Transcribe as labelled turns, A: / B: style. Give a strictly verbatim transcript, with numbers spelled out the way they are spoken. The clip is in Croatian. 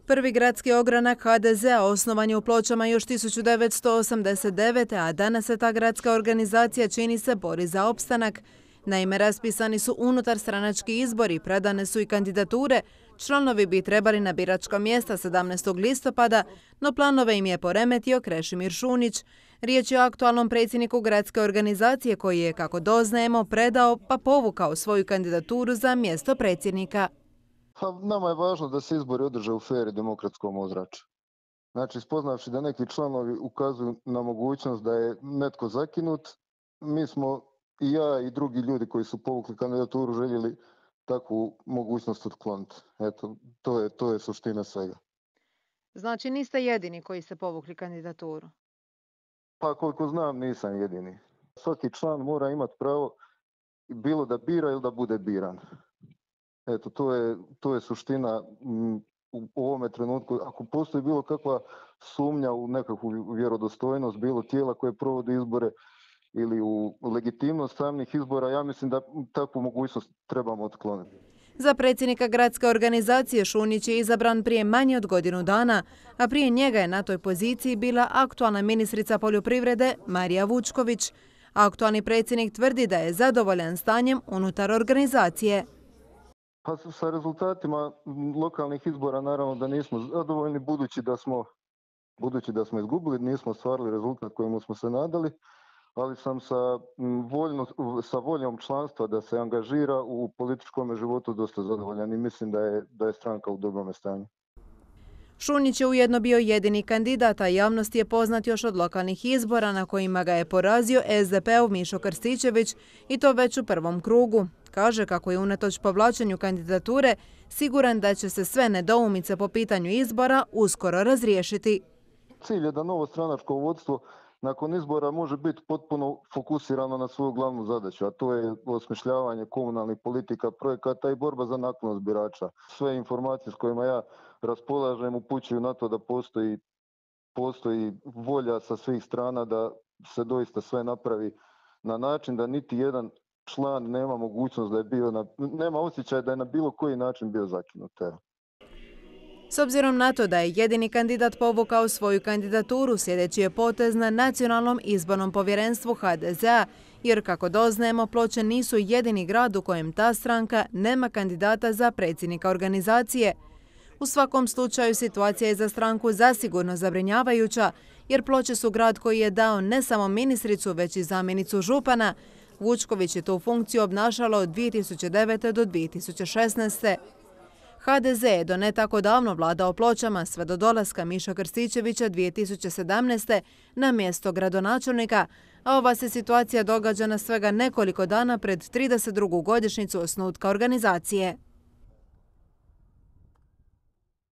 A: Prvi gradski ogranak ha de zea osnovan je u Pločama još tisuću devetsto osamdeset devete. a danas se ta gradska organizacija čini se bori za opstanak. Naime, raspisani su unutarstranački izbori, predane su i kandidature. Članovi bi trebali na biračka mjesta sedamnaestog listopada, no planove im je poremetio Krešimir Šunić. Riječ je o aktualnom predsjedniku gradske organizacije koji je, kako doznajemo, predao pa povukao svoju kandidaturu za mjesto predsjednika.
B: Nama je važno da se izbori održe u fer i demokratskom ozračju. Znači, spoznavši da neki članovi ukazuju na mogućnost da je netko zakinut, mi smo i ja i drugi ljudi koji su povukli kandidaturu željeli takvu mogućnost otkloniti. Eto, to je, to je suština svega.
A: Znači, niste jedini koji ste povukli kandidaturu?
B: Pa koliko znam, nisam jedini. Svaki član mora imati pravo bilo da bira ili da bude biran. Eto, to je, to je suština m, u ovome trenutku. Ako postoji bilo kakva sumnja u nekakvu vjerodostojnost, bilo tijela koje provodi izbore ili u legitimnost samih izbora, ja mislim da takvu mogućnost trebamo otkloniti.
A: Za predsjednika gradske organizacije Šunić je izabran prije manje od godinu dana, a prije njega je na toj poziciji bila aktualna ministrica poljoprivrede Marija Vučković. Aktualni predsjednik tvrdi da je zadovoljan stanjem unutar organizacije.
B: Pa sa rezultatima lokalnih izbora naravno da nismo zadovoljni, budući da smo, budući da smo izgubili, nismo ostvarili rezultat kojemu smo se nadali, ali sam sa, voljno, sa voljom članstva da se angažira u političkom životu dosta zadovoljan i mislim da je, da je stranka u dobrom stanju.
A: Šunić je ujedno bio jedini kandidat, a javnost je poznat još od lokalnih izbora na kojima ga je porazio es de pe ov Mišo Krstičević i to već u prvom krugu. Kaže kako je unatoč povlačenju kandidature siguran da će se sve nedoumice po pitanju izbora uskoro razriješiti.
B: Cilj je da novo stranačko vodstvo nakon izbora može biti potpuno fokusirano na svoju glavnu zadaću, a to je osmišljavanje komunalnih politika, projekata i borba za naklonost birača. Sve informacije s kojima ja raspolažem upućuju na to da postoji, postoji volja sa svih strana da se doista sve napravi na način da niti jedan član nema mogućnost da je bio, na, nema osjećaj da je na bilo koji način bio zakinut.
A: S obzirom na to da je jedini kandidat povukao svoju kandidaturu, sljedeći je potez na Nacionalnom izbornom povjerenstvu ha de zea, jer kako doznajemo, Ploče nisu jedini grad u kojem ta stranka nema kandidata za predsjednika organizacije. U svakom slučaju situacija je za stranku zasigurno zabrinjavajuća, jer Ploče su grad koji je dao ne samo ministricu, već i zamjenicu župana. Vučković je tu funkciju obnašala od dvije tisuće devete. do dvije tisuće šesnaeste. ha de ze je do ne tako davno vladao Pločama sve do dolaska Miša Krstičevića dvije tisuće sedamnaeste. na mjesto gradonačelnika, a ova se situacija događa na svega nekoliko dana pred trideset drugu godišnjicu osnutka organizacije.